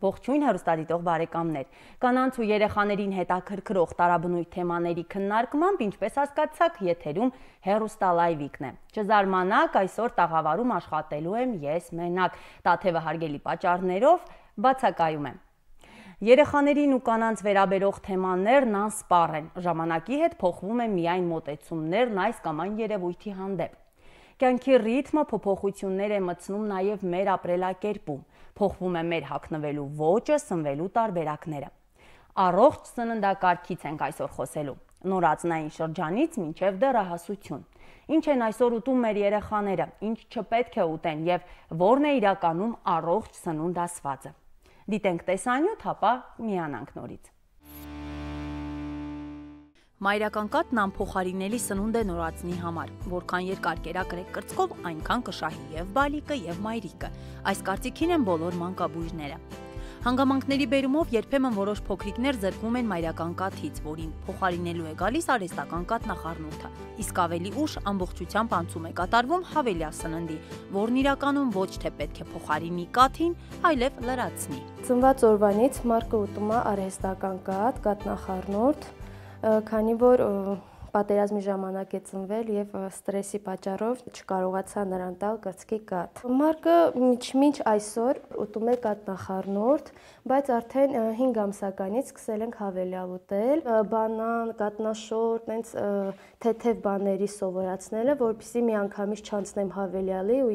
Ողջույն հեռուստադիտող բարեկամներ, կանանց ու երեխաներին հետաքրքրող տարաբնույթ թեմաների քննարկմամբ, ինչպես հասկացաք, եթերում հեռուստալայվիկն է։ Չզարմանաք, այսօր տաղավարում աշխատելու եմ ես մենակ, տաթևը հարգելի պատճառներով բացակայում եմ։ Երեխաներին ու կանանց վերաբերող թեմաներն անսպառ են, ժամանակի հետ փոխվում են միայն մոտեցումներն այս կամ այն երևույթի հանդեպ։ Կյանքի ռիթմը փոփոխություններ է մտցնում նաև մեր ապրելակերպում, փոխվում է մեր հագնվելու ոճը, սնվելու տարբերակները։ Առողջ սննդակարգից ենք այսօր խոսելու, նորածնային շրջանից մինչև դեռահասություն։ Ինչ են այսօր ուտում մեր երեխաները, ինչ չպետք է ուտեն եւ որն է իրականում առողջ սնունդ ասվածը։ Դիտենք տեսանյութ, ապա միանանք նորից։ Մայրական կաթն անփոխարինելի սնունդ է նորածնի համար, որքան երկար կերակրեք կրծքով, այնքան կշահի եւ բալիկը եւ մայրիկը։ Այս կարծիքին են բոլոր մանկաբույժները։ Հանգամանքների բերումով երբեմն որոշ փոքրիկներ զրկվում են մայրական կաթից, որին փոխարինելու է գալիս արհեստական կաթնախառնուրդը, իսկ ավելի ուշ ամբողջությամբ անցում է կատարվում հավելյալ սննդի, որն իրականում ոչ թե պետք է փոխարինի կաթին, այլև լրացնի։ Ծնված օրվանից մարկը ուտում է արհեստական կաթ, կաթնախառնուրդ, քանի որ պատերազմի ժամանակ է ծնվել եւ ստրեսի պատճառով չկարողացա նրան տալ կրծքի կաթ։ Մարկը մինչ այսօր ուտում է կաթնախառնուրդ, բայց արդեն 5 ամսականից սկսել ենք հավելյալ ուտել, բանան, կատնաշոր, տենց թեթև բաների սովորացնելը, որպեսզի միանգամից չանցնեմ հավելյալի ու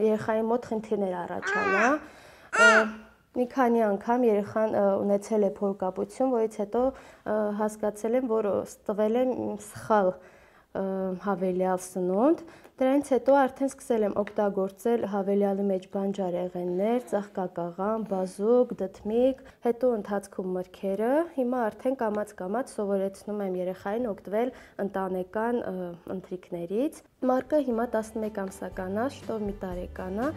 երեխայի մոտ խնդիրներ առաջանա։ Մի քանի անգամ երեխան ունեցել է փորկապություն, որից հետո հասկացել եմ, որ տվել եմ սխալ հավելյալ սնունդ։ Դրանից հետո արդեն սկսել եմ օգտագործել հավելյալի մեջ բանջարեղեններ, ծաղկակաղամ, բազուկ, դդմիկ, հետո ընթացքում մրգերը։ Հիմա արդեն կամաց-կամաց սովորեցնում եմ երեխային օգտվել ընտանեկան ընթրիքներից։ Մարկը հիմա 11 ամսական է, շտով մի տարեկան է,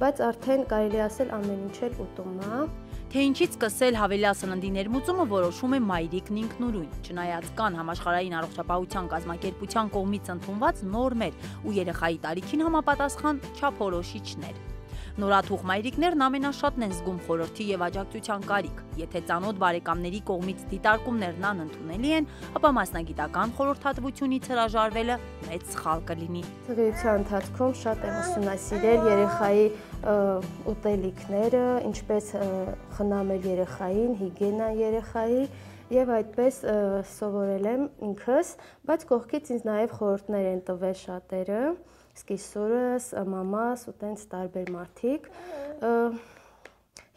բայց արդեն կարելի ասել ամեն ինչ էլ ուտում է։ Թե ինչից սկսել հավելյալ սննդի ներմուծումը որոշում է մայրիկն ինքնուրույն, չնայած կան համաշխարհային առողջապահության կազմակերպության կողմից ընդունված նորմեր ու երեխայի տարիքին համապատասխան չափորոշիչներ։ Նորաթուխ մայրիկներն ամենաշատն են զգում խորհրդի եւ աջակցության կարիք։ Եթե ծանոթ բարեկամների կողմից դիտարկումներն անընդունելի են, ապա մասնագիտական խորհրդատվությունից հրաժարվելը մեծ սխալ կլինի։ Ծննդության ընթացքում շատ եմ ուսումնասիրել երեխայի ուտելիքները, ինչպես խնամել երեխային, հիգիենա երեխայի եւ այդպես սովորել եմ ինքս, բայց կողքից ինձ նաեւ խորհուրդներ են տվել շատերը, սկիսուրս, մամաս ու տենց տարբեր մարդիկ։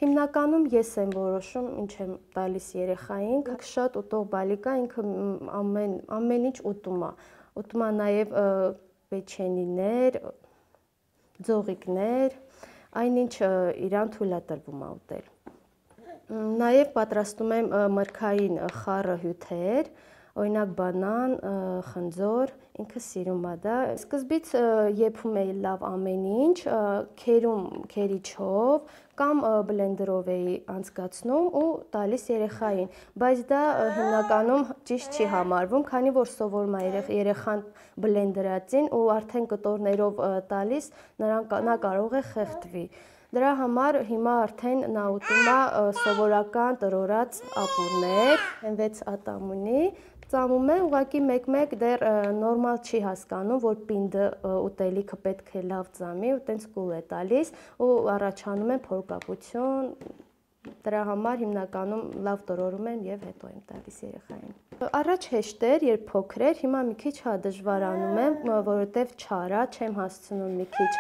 Հիմնականում ես եմ որոշում ինչ եմ տալիս երեխային, շատ ուտող բալիկա ինքը ամեն ինչ ուտում է։ Ուտում է նաեւ պեչենիներ, ձողիկներ, այնինչ իրան թույլ է տրվում է ուտել։ Նաև պատրաստում եմ մրգային խառը հյութեր, օրինակ բանան, խնձոր, ինքը սիրում է դա։ Սկզբից եփում էի լավ ամեն ինչ, քերիչով կամ բլենդերով էի անցկացնում ու տալիս երեխային, բայց դա հիմնականում ճիշտ չի համարվում, քանի որ սովորում է երեխան բլենդերածին ու արդեն կտորներով տալիս, նա կարող է խեղդվի։ Դրա համար հիմա արդեն նա ուտում է սովորական տրորած ապուրներ, 6 ատամունի, ծամում է, ուղղակի մեկ-մեկ դեռ նորմալ չի հասկանում, որ պինդը ուտելիքը պետք է լավ ծամի ու տենց կուլ է տալիս ու առաջանում է փորկապություն, դրա համար հիմնականում լավ տրորում եմ եւ հետո եմ տալիս երեխային։ Առաջ հեշտ էր, երբ փոքր էր, հիմա մի քիչ դժվարանում եմ, որովհետեւ չար է, չեմ հասցնում մի քիչ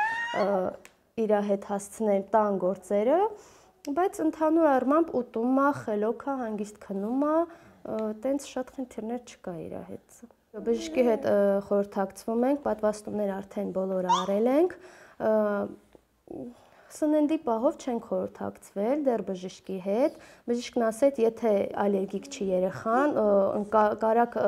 իր հետ հասցնեմ տան գործերը, բայց ընդհանուր առմամբ ուտում է, խելոք է, հանգիստ քնում է, տենց շատ խնդիրներ չկա իր հետ։ Բժշկի հետ խորհրդակցվում ենք, պատվաստումներ արդեն բոլորը արել ենք, սննդի պահով չենք խորհրդակցվել դեռ բժշկի հետ, բժիշկն ասեց, եթե ալերգիկ չի երեխան, կարակ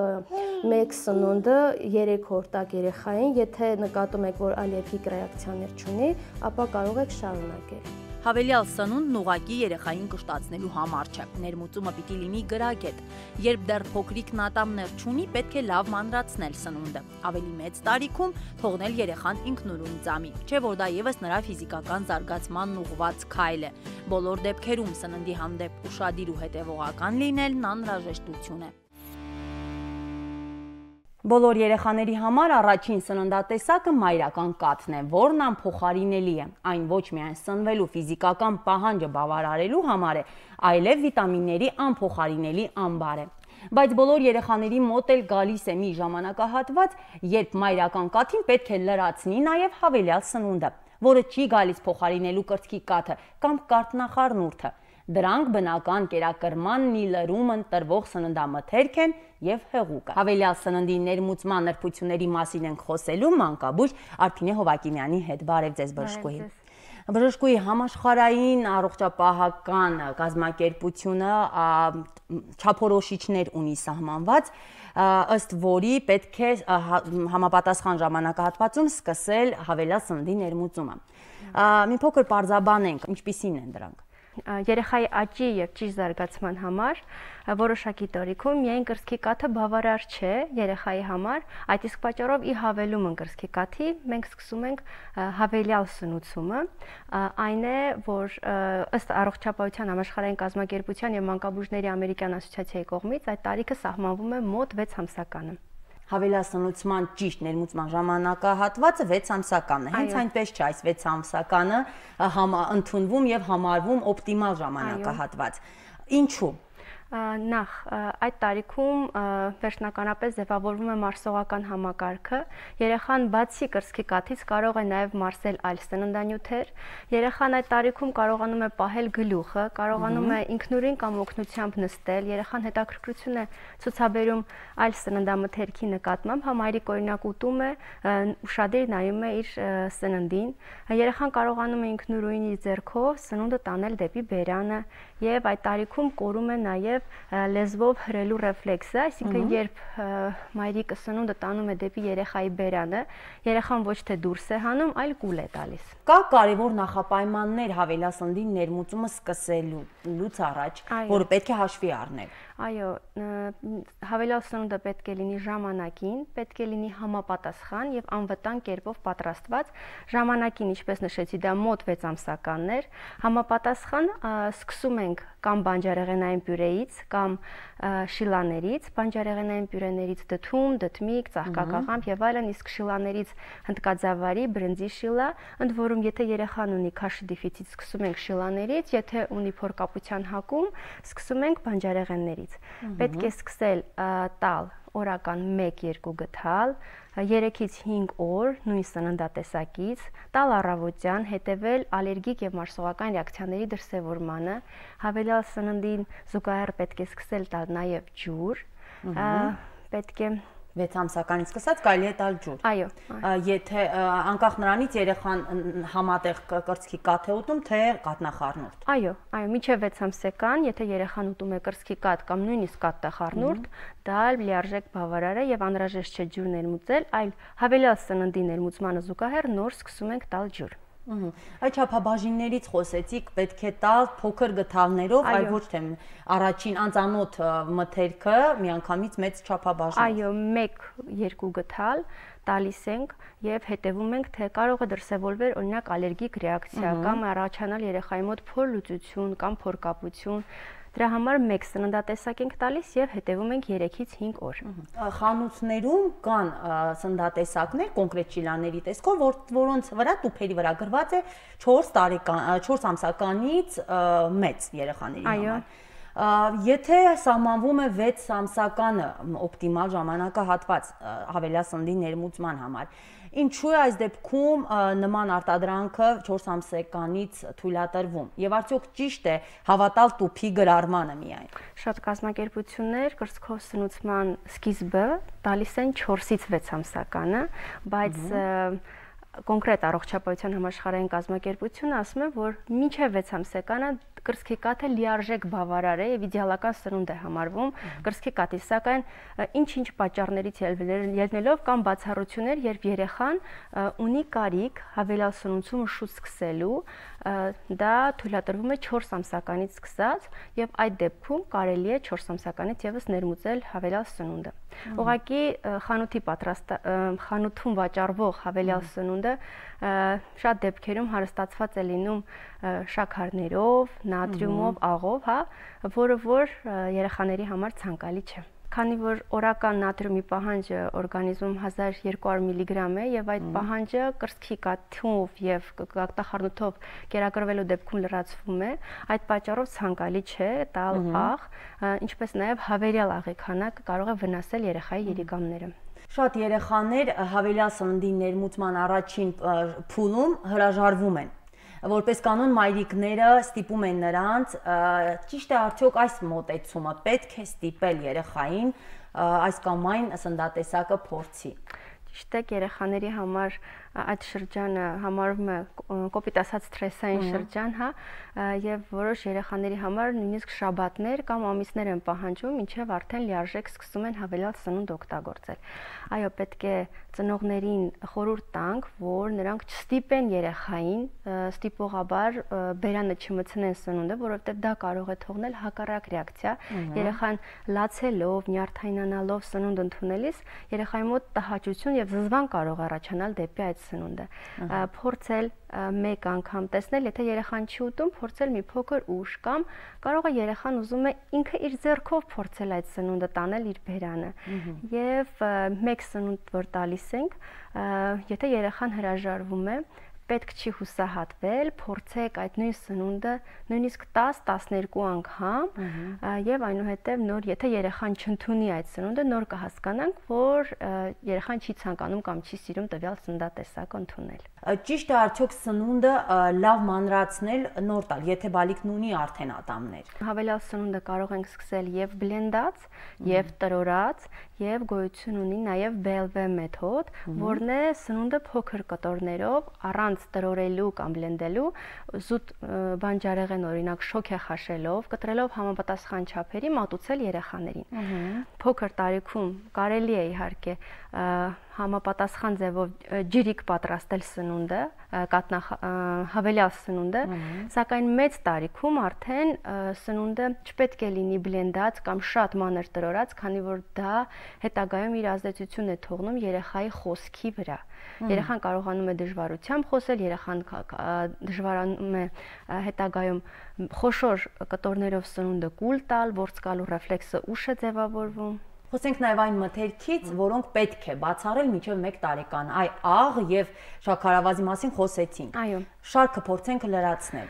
մեկ սնունդը 3 օր տակ երեխային, եթե նկատում եք, որ ալերգիկ ռեակցիաներ չունի, ապա կարող եք շարունակել։ Հավելյալ սնունդն ուղղակի երեխային կշտացնելու համար չէ։ Ներմուծումը պիտի լինի գրագետ։ Երբ դեռ փոքրիկն ատամներ չունի, պետք է լավ մանրացնել սնունդը։ Ավելի մեծ տարիքում թողնել երեխան ինքնուրույն ծամի, չէ՞ որ դա եւս նրա ֆիզիկական զարգացմանն ուղղված քայլ է։ Բոլոր դեպքերում սննդի հանդեպ ուշադիր ու հետևողական լինելն անհրաժեշտություն է։ Բոլոր երեխաների համար առաջին սննդատեսակը մայրական կաթն է, որն անփոխարինելի է։ Այն ոչ միայն սնվելու ֆիզիկական պահանջը բավարարելու համար է, այլև վիտամինների անփոխարինելի ամբար է։ Բայց բոլոր երեխաների մոտ էլ գալիս է մի ժամանակահատված, երբ մայրական կաթին պետք է լրացնի նաև հավելյալ սնունդը, որը չի գալիս փոխարինելու կրծքի կաթը կամ կարտնախառնուրդը։ Դրանք բնական կերակրման մի լրում ընտրվող սննդամթերք են եւ հեղուկը։ Հավելյալ սննդի ներմուծման նրբությունների մասին ենք խոսելու մանկաբույժ Արփինե Հովակիմյանի հետ։ Բարև ձեզ, բժշկուհի։ Բժշկուհի, համաշխարհային առողջապահական կազմակերպությունը չափորոշիչներ ունի սահմանված, ըստ որի պետք է համապատասխան ժամանակահատվածում սկսել հավելյալ սննդի ներմուծումը։ Մի փոքր պարզաբանենք, ինչպիսին են դրանք։ Երեխայի աճի եւ ճիշտ զարգացման համար որոշակի տարիքում միայն կրծքի կաթը բավարար չէ երեխայի համար, այդ իսկ պատճառով ի հավելում կրծքի կաթի մենք սկսում ենք հավելյալ սնուցումը, այն է, որ ըստ առողջապահության համաշխարհային կազմակերպության եւ մանկաբույժների ամերիկյան ասոցիացիայի կողմից այդ տարիքը սահմանվում է մոտ 6 ամսականը։ Հավելյալ սնուցման ճիշտ ներմուծման ժամանակահատվածը 6 ամսականն է։ Հենց այնպես չէ, այս 6 ամսականը ընդունվում եւ համարվում օպտիմալ ժամանակահատված։ Ինչու՞։ Նախ այդ տարիքում վերջնականապես ձևավորվում է մարսողական համակարգը, երեխան բացի կրծքի կաթից կարող է նաև մարսել այլ սննդանյութեր, երեխան այդ տարիքում կարողանում է պահել գլուխը, կարողանում է ինքնուրույն կամ օգնությամբ նստել, երեխան հետաքրքրություն է ցուցաբերում այլ սննդամթերքի նկատմամբ, համայրիկ օրինակ ուտում է, ուշադիր նայում է իր սննդին, երեխան կարողանում է ինքնուրույն իր ձեռքով սնունդը տանել դեպի բերանը եւ այդ տարիքում կորում է նաև լեզվով հրելու ռեֆլեքսը, այսինքն երբ մայրիկը սնունդը տանում է դեպի երեխայի բերանը, երեխան ոչ թե դուրս է հանում, այլ կուլ է տալիս։ Կա կարևոր նախապայմաններ հավելյալ սննդի ներմուծումը սկսելուց առաջ, որը պետք է հաշվի առնել։ Այո, հավելյալ սնունդը պետք է լինի ժամանակին, պետք է լինի համապատասխան եւ անվտանգ կերպով պատրաստված։ Ժամանակին, ինչպես նշեցի, դա մոտ 6 ամսականն էր։ Համապատասխան սկսում ենք կամ բանջարեղենային պյուրեից, կամ շիլաներից, բանջարեղենային պյուրեներից դդում, դդմիկ, ծաղկակաղամբ եւ այլն, իսկ շիլաներից հնդկաձավարի, բրնձի շիլա, ընդ որում եթե երեխան ունի քաշի դեֆիցիտ, սկսում ենք շիլաներից, եթե ունի փորկապության հակում, սկսում ենք բանջարեղեններից։ Պետք է սկսել տալ օրական 1-2 գթալ, 3-ից 5 օր նույն սննդատեսակից, տալ առավոտյան, հետևել ալերգիկ եւ մարսողական ռեակցիաների դրսևորմանը, հավելյալ սննդին զուգահեռ պետք է սկսել տալ նաեւ ջուր, պետք է 6 ամսականից սկսած կարելի է տալ ջուր։ Այո։ Եթե անկախ նրանից երեխան համատեղ կրծքի կաթ է ուտում, թե կաթնախառնուրդ։ Այո, մինչև 6 ամսական, եթե երեխան ուտում է կրծքի կաթ կամ նույնիսկ կաթնախառնուրդ, դա լիարժեք բավարար է եւ անհրաժեշտ չէ ջուր ներմուծել, այլ հավելյալ սննդի ներմուծմանը զուգահեռ նոր սկսում ենք տալ ջուր։ Այդ չափաբաժիններից խոսեցիք, պետք է տալ փոքր գթալներով, այլ ոչ թե առաջին անծանոթ մթերքը միանգամից մեծ չափաբաժին։ Այո, 1-2 գթալ տալիս ենք եւ հետեւում ենք, թե կարող է դրսևորվել օրինակ ալերգիկ ռեակցիա կամ առաջանալ երեխայի մոտ փորլուծություն կամ փորկապություն։ Դրա համար 1 սննդատեսակ ենք տալիս եւ հետեւում ենք 3-ից 5 օր։ Խանութներում կան սննդատեսակներ կոնկրետ շիլաների տեսքով, որոնց վրա տուփերի վրա գրված է 4 ամսականից մեծ երեխաների համար։ Եթե սահմանվում է 6 ամսականը օպտիմալ ժամանակահատված հավելյալ սննդի ներմուծման համար, ինչու է այս դեպքում նման արտադրանքը 4 ամսականից թույլատրվում եւ արդյոք ճիշտ է հավատալ տուփի գրառմանը միայն։ Շատ կազմակերպություններ կրծքով սնուցման սկիզբը տալիս են 4-ից 6 ամսականը, բայց կոնկրետ առողջապահության համաշխարհային կազմակերպությունը ասում է, որ մինչև 6 ամսականը կրծքի կաթը լիարժեք բավարար է եւ իդեալական սնունդ է համարվում կրծքի կաթի, սակայն ինչ-ինչ պատճառներից ելնելով կամ բացառություններ, երբ երեխան ունի կարիք հավելյալ սնուցումը շուտ սկսելու, դա թույլատրվում է 4 ամսականից սկսած եւ այդ դեպքում կարելի է 4 ամսականից եւս ներմուծել հավելյալ սնունդը։ Ուղղակի խանութում վաճառվող հավելյալ սնունդը շատ դեպքերում հարստացված է լինում շաքարներով, նատրիումով, աղով, հա, որը որ երեխաների համար ցանկալի չէ։ Քանի որ օրական նատրիումի պահանջը օրգանիզմում 1200 միլիգրամ է եւ այդ պահանջը կրծքի կաթով եւ գաղտախառնուրդով կերակրվելու դեպքում լրացվում է, այդ պատճառով ցանկալի չէ տալ աղ, ինչպես նաեւ հավելյալ աղի քանակը կարող է վնասել երեխայի երիկամները։ Շատ երեխաներ հավելյալ սննդի ներմուծման առաջին փուլում հրաժարվում են։ Որպես կանոն մայրիկները ստիպում են նրանց, ճիշտ է արդյոք այս մոտեցումը պետք է ստիպել երեխային այս կամ այն սննդատեսակը փորձի։ Ճիշտ է, երեխաների համար այդ շրջանը համարվում է կոպիտ ասած սթրեսային շրջան, հա, եւ որոշ երեխաների համար նույնիսկ շաբաթներ կամ ամիսներ են պահանջում, ինչեւ արդեն լիարժեք սկսում են հավելյալ սնունդ օգտագործել։ Այո, պետք է ծնողներին խորհուրդ տանք, որ նրանք չստիպեն երեխային ստիպողաբար բերանը չմտցնեն սնունդը, որովհետեւ դա կարող է թողնել հակառակ ռեակցիա։ Երեխան լացելով, նյարդայնանալով սնունդ ընդունելիս երեխայի մոտ տհաճություն եւ զզվան կարող է առաջանալ դեպի այդ սնունդը։ Փորձել մեկ անգամ տեսնել, եթե երեխան չի ուտում, փորձել մի փոքր ուշ կամ կարող է երեխան ուզում է ինքը իր ձեռքով փորձել այդ սնունդը տանել իր բերանը։ Եվ մեկ սնունդ որ տալիս ենք, եթե երեխան հրաժարվում է, պետք չի հուսահատվել, փորձեք այդ նույն սնունդը նույնիսկ 10-12 անգամ եւ այնուհետեւ նոր եթե երեխան չընդունի այդ սնունդը, նոր կհասկանանք, որ երեխան չի ցանկանում կամ չի սիրում տվյալ սննդատեսակը ընդունել։ Ճիշտ է արդյոք սնունդը լավ մանրացնել, նոր տալ, եթե բալիկն ունի արդեն ատամներ։ Հավելյալ սնունդը կարող ենք սկսել եւ բլենդած, եւ տրորած, եւ գոյություն ունի նաեւ BLV մեթոդ, որն է սնունդը փոքր կտորներով առանց տրորելու կամ բլենդելու զուտ բանջարեղեն օրինակ շոքե խաշելով, կտրելով համապատասխան չափերի մատուցել երեխաներին։ Փոքր տարիքում կարելի է իհարկե համապատասխան ձևով ջրիկ պատրաստել սնունդը, հավելյալ սնունդը, սակայն մեծ տարիքում արդեն սնունդը չպետք է լինի բլենդած կամ շատ մանր տրորած, քանի որ դա հետագայում իր ազդեցությունն է թողնում երեխայի խոսքի վրա։ Երեխան կարողանում է դժվարությամբ խոսել, երեխան դժվարանում է հետագայում խոշոր կտորներով սնունդը կուլ տալ, ворցկալու ռեֆլեքսը ուշ է ձևավորվում։ Խոսենք նաև այն մթերքից, որոնք պետք է բացառել մինչև 1 տարեկան, այ աղ եւ շաքարավազի մասին խոսեցինք։ Այո։ Շարքը փորձենք լրացնել։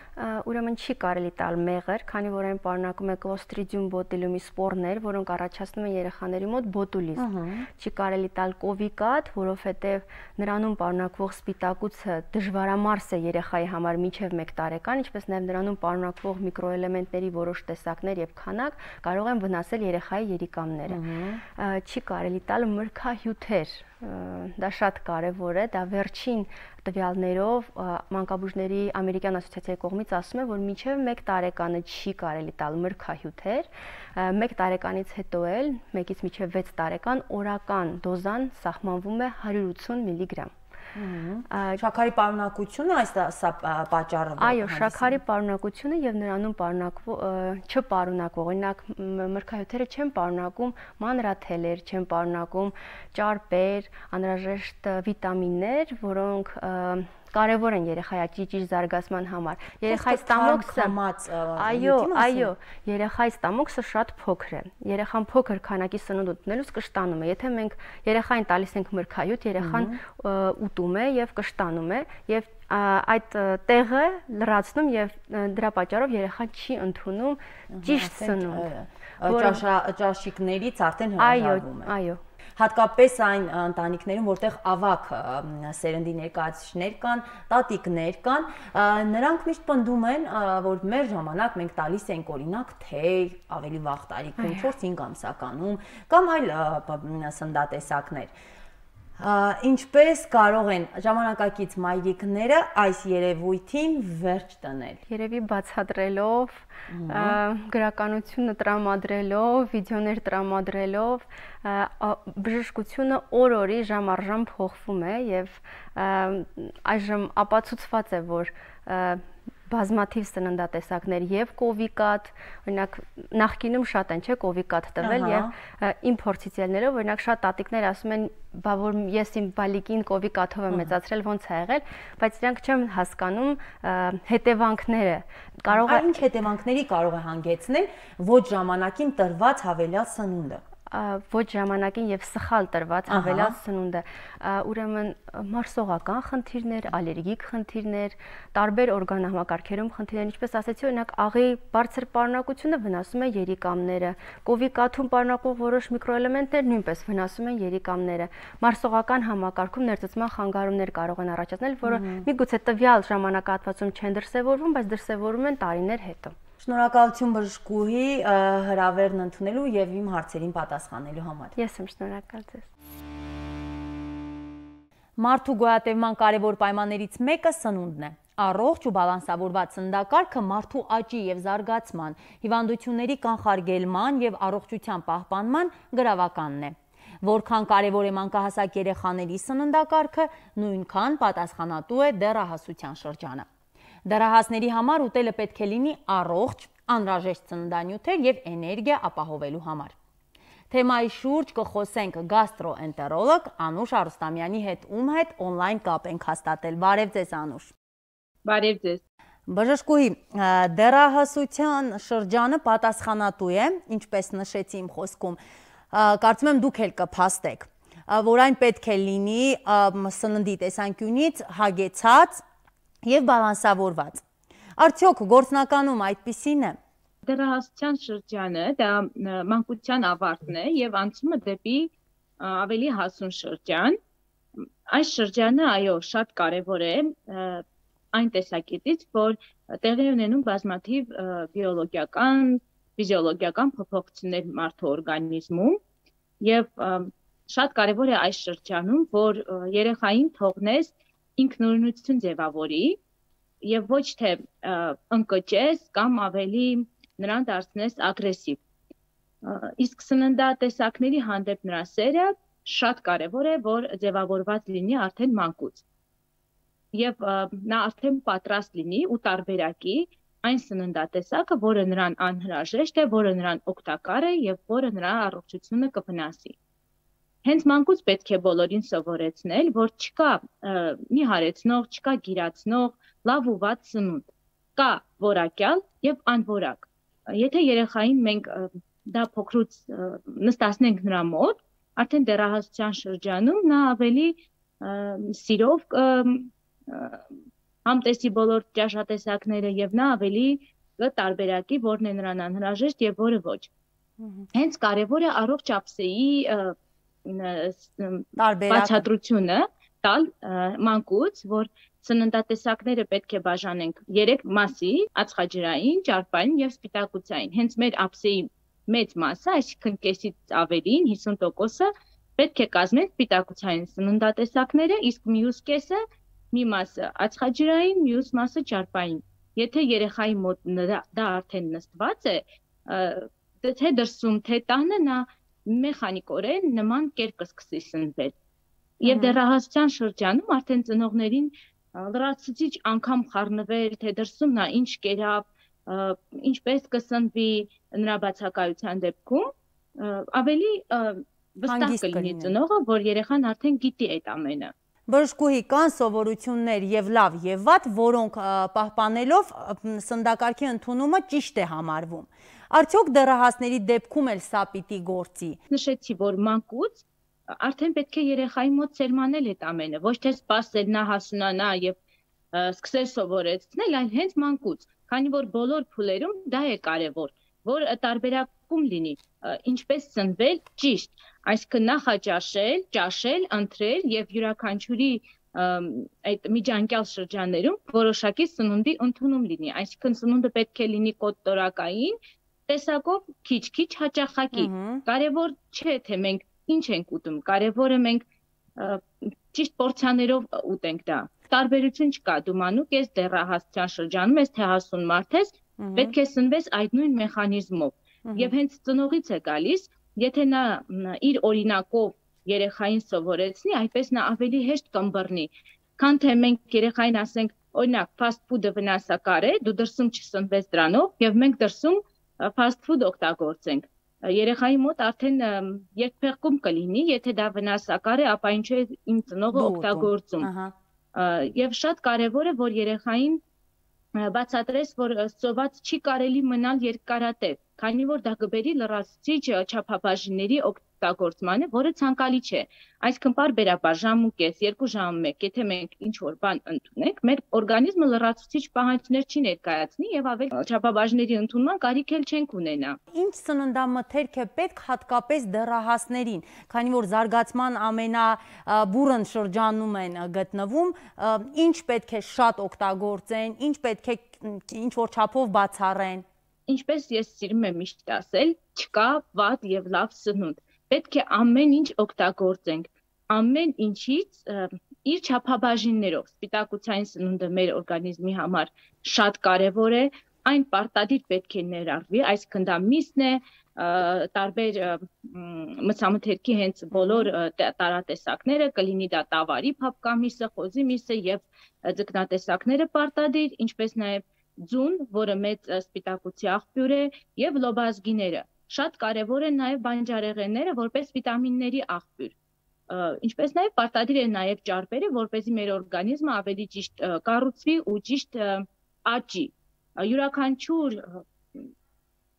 Ուրեմն չի կարելի տալ մեղր, քանի որ այն պարունակում է Clostridium botulinum սպորներ, որոնք առաջացնում են երեխաների մոտ բոտուլիզմ։ Չի կարելի տալ կովիկատ, որովհետեւ նրանում պարունակվող սպիտակուցը դժվարամարս է երեխայի համար մինչև 1 տարեկան, ինչպես նաև նրանում պարունակվող միկրոէլեմենտների որոշ տեսակներ եւ քանակ կարող են վնասել երեխայի երիկամները։ Չի կարելի տալ մրգահյութեր, դա շատ կարևոր է, դա վերջին տվյալներով մանկաբույժների ամերիկյան ասոցիացիայի կողմից ասում է, որ մինչև 1 տարեկանը չի կարելի տալ մրգահյութեր, 1 տարեկանից հետո էլ 1-ից մինչև 6 տարեկան օրական դոզան սահմանվում է 180 միլիգրամ։ Շաքարի պարունակությունը սա պատճառը։ Այո, շաքարի պարունակությունը եւ նրանում չպարունակվող, օրինակ մրգահյութերը չեն պարունակում մանրաթելեր, չեն պարունակում ճարպեր, անհրաժեշտ վիտամիններ, որոնք կարևոր են երեխայի ճիճ զարգացման համար։ Երեխայի ստամոքսը, այո, երեխայի ստամոքսը շատ փոքր է։ Երեխան փոքր քանակի սնունդ ուտելուց կշտանում է։ Եթե մենք երեխային տալիս ենք մրգահյութ, երեխան ուտում է եւ կշտանում է եւ այդ տեղը լրացնում եւ դրա պատճառով երեխան չի ընդունում ճիշտ սնունդ։ Ճաշիկներից արդեն հրաժարվում է։ Այո։ Հատկապես այն ընտանիքներում, որտեղ ավագ սերնդի ներկայացուցիչներ կան, տատիկներ կան, նրանք միշտ պնդում են, որ մեր ժամանակ մենք տալիս ենք օրինակ թե ավելի վաղ տարիքում 4-5 ամսականում կամ այլ սննդատեսակներ։ Ինչպես կարող են ժամանակակից մայրիկները այս երևույթին վերջ տնել։ Երևի բացատրելով, գրականությունը տրամադրելով, վիդեոներ տրամադրելով, բժշկությունը օր-օրի ժամ առ ժամ փոխվում է եւ այժմ ապացուցված է, որ բազմաթիվ սննդատեսակներ եւ կովիկատ, օրինակ նախկինում շատ են, չէ, կովիկատ տվել եւ իմ փորձից ելնելով, օրինակ շատ տատիկներ ասում են, բա որ ես իմ բալիկին կովիկաթով եմ մեծացրել, ոնց է եղել, բայց իրանք չեմ հասկանում հետևանքները։ Կարող է ինչ հետևանքների կարող է հանգեցնել ոչ ժամանակին տրված հավելյալ սնունդը։ Ոչ ժամանակին եւ սխալ տրված հավելյալ սնունդը, ուրեմն մարսողական խնդիրներ, ալերգիկ խնդիրներ, տարբեր օրգանահամակարգերում խնդիրներ, ինչպես ասեցի, օրինակ աղի բարձր պարունակությունը վնասում է երիկամները, կովիկաթում պարունակող որոշ միկրոէլեմենտներ նույնպես վնասում են երիկամները, մարսողական համակարգում ներծծման խանգարումներ կարող են առաջացնել, որը միգուցե տվյալ ժամանակահատվածում չեն դրսևորվում, բայց դրսևորվում են տարիներ հետո։ Շնորհակալություն բժշկուհի հրավերն ընդունելու եւ իմ հարցերին պատասխանելու համար։ Ես եմ շնորհակալ ձեզ։ Մարդու գոյատևման կարևոր պայմաններից մեկը սնունդն է։ Առողջ ու բալանսավորված սննդակարգը մարդու աճի եւ զարգացման, հիվանդությունների կանխարգելման եւ առողջության պահպանման գրավականն է։ Որքան կարևոր է մանկահասակ երեխաների սննդակարգը, նույնքան պատասխանատու է դեռահասության շրջանը։ Դեռահասների համար ուտելը պետք է լինի առողջ, անհրաժեշտ սննդանյութեր եւ էներգիա ապահովելու համար։ Թեմայի շուրջ կխոսենք գաստրոէնտերոլոգ Անուշ Արուստամյանի հետ, ում հետ օնլայն կապ ենք հաստատել։ Բարև ձեզ, Անուշ։ Բարև ձեզ։ Բժշկուհի, դեռահասության շրջանը պատասխանատու է, ինչպես նշեցի իմ խոսքում, կարծում եմ դուք էլ կփաստեք, որ այն պետք է լինի սննդի տեսանկյունից հագեցած եւ բալանսավորված։ Արդյոք գործնականում այդպիսին է։ Դեռահասության շրջանը դա մանկության ավարտն է եւ անցումը դեպի ավելի հասուն շրջան։ Այս շրջանը, այո, շատ կարեւոր է այն տեսակետից, որ տեղի ունենում բազմաթիվ բիոլոգիական, ֆիզիոլոգիական փոփոխություններ մարդու օրգանիզմում եւ շատ կարեւոր է այս շրջանում, որ երեխային թողնես ինքնուրույնություն ձևավորի եւ ոչ թե ընկճես կամ ավելի նրան դարձնես ագրեսիվ։ Իսկ սննդատեսակների հանդեպ նրա սերը շատ կարեւոր է, որ ձևավորված լինի արդեն մանկուց։ Եվ նա արդեն պատրաստ լինի ու տարբերակի այն սննդատեսակը, որը նրան անհրաժեշտ է, որը նրան օգտակար է եւ որը նրա առողջությունը կվնասի։ Հենց մանկուց պետք է բոլորին սովորեցնել, որ չկա նիհարեցնող, չկա գիրացնող, լավ ու վատ սնունդ։ Կա որակյալ եւ անորակ։ Եթե երեխային մենք դա փոքրուց նստացնենք նրա մոտ, արդեն դեռահասության շրջանում նա ավելի սիրով համտեսի բոլոր ճաշատեսակները եւ նա ավելի կտարբերակի որն է նրան անհրաժեշտ եւ որը ոչ։ Հենց կարեւոր է առողջ ափսեի բացատրությունը տալ մանկուց, որ սննդատեսակները պետք է բաժանենք 3 մասի՝ ածխաջրային, ճարպային եւ սպիտակուցային։ Հենց մեր ափսեի մեծ մասը, այսինքն կեսից ավելին 50%-ը պետք է կազմեն սպիտակուցային սննդատեսակները, իսկ մյուս կեսը, մի մասը ածխաջրային, մյուս մասը ճարպային։ Եթե երեխայի մոտ դա արդեն նստված է, թե դրսում, թե տանը նա մեխանիկորեն նման կերպ կսկսի սնվել։ Եվ դեռահասության շրջանում արդեն ծնողներին լրացուցիչ անգամ խառնվել, թե դրսում նա ինչ կերավ, ինչպես կսնվի նրա բացակայության դեպքում, ավելի վստահ կլինի ծնողը, որ երեխան արդեն գիտի այդ ամենը։ Բժշկուհի, կան սովորություններ եւ լավ եւ վատ, որոնք պահպանելով սննդակարգի ընդունումը ճիշտ է համարվում։ Արդյոք դեռահասների դեպքում էլ սա պիտի գործի։ Նշեցի, որ մանկուց արդեն պետք է երեխայի մոտ սերմանել այդ ամենը, ոչ թե սպասել նա հասունանա եւ սկսել սովորեցնել, այլ հենց մանկուց, քանի որ բոլոր փուլերում դա է կարեւոր, որ տարբերակում լինի, ինչպես սնվել ճիշտ, այսինքն նախաճաշել, ճաշել, ընթրել եւ յուրաքանչյուրի այդ միջանկյալ շրջաններում որոշակի սնունդի ընդունում լինի, այսինքն սնունդը պետք է լինի կոտորակային տեսակով քիչ-քիչ հաճախակի։ Կարևոր չէ, թե մենք ինչ ենք ուտում, կարևորը մենք ճիշտ պորցիաներով ուտենք դա։ Տարբերություն չկա, դու մանուկ ես դեռահասության շրջանում ես, թե հասուն մարդ ես, պետք է սնվես այդ նույն մեխանիզմով։ Եվ հենց ծնողից է գալիս, եթե նա իր օրինակով երեխային սովորեցնի, այդպես նա ավելի հեշտ կըմբռնի, քան թե մենք երեխային ասենք, օրինակ fast food-ը վնասակար է, դու դրսում չսնվես դրանով եւ մենք դրսում fast food օգտագործենք։ Երեխայի մոտ արդեն երկփեղկում կլինի, եթե դա վնասակար է, ապա ինչու է իմ ծնողը օգտագործում։ Եվ շատ կարևոր է, որ երեխային բացատրես, որ սոված չի կարելի մնալ երկարատև, քանի որ դա կբերի լրացուցիչ չափաբաժինների օգտագործմանը, որը ցանկալի չէ։ Այսինքն պարբերաբար ժամ ու կես, 2 ժամ 1, եթե մենք ինչ-որ բան ընդունենք, մեր օրգանիզմը լրացուցիչ պահանջներ չի ներկայացնի եւ ավելի չափաբաժինների ընդունման կարիք էլ չենք ունենա։ Ինչ սննդամթերք է պետք հատկապես դեռահասներին, քանի որ զարգացման ամենաբուրըն շրջանում են գտնվում, ինչ պետք է շատ օգտագործեն, ինչ պետք է ինչ-որ չափով բացառեն։ Ինչպես ես սիրում եմ միշտ ասել, չկա վատ եւ լավ սնունդ։ Պետք է ամեն ինչ օգտագործենք, ամեն ինչից իր չափաբաժիններով։ Սպիտակուցային սնունդը մեր օրգանիզմի համար շատ կարևոր է, այն պարտադիր պետք է ներառվի, այսինքն դա միսն է, տարբեր մցամթերքի հենց բոլոր տարատեսակները, կլինի դա տավարի փափկամիսը, խոզի միսը եւ ձկնատեսակները պարտադիր, ինչպես նաեւ ձուն, որը մեծ սպիտակուցի աղբյուր է, եւ լոբազգիները։ Շատ կարևոր են նաեւ բանջարեղենները, որպես վիտամինների աղբյուր։ Ինչպես նաեւ պարտադիր է նաեւ ճարպերը, որպեսզի մեր օրգանիզմը ավելի ճիշտ կառուցվի ու ճիշտ աճի։ Յուրաքանչյուր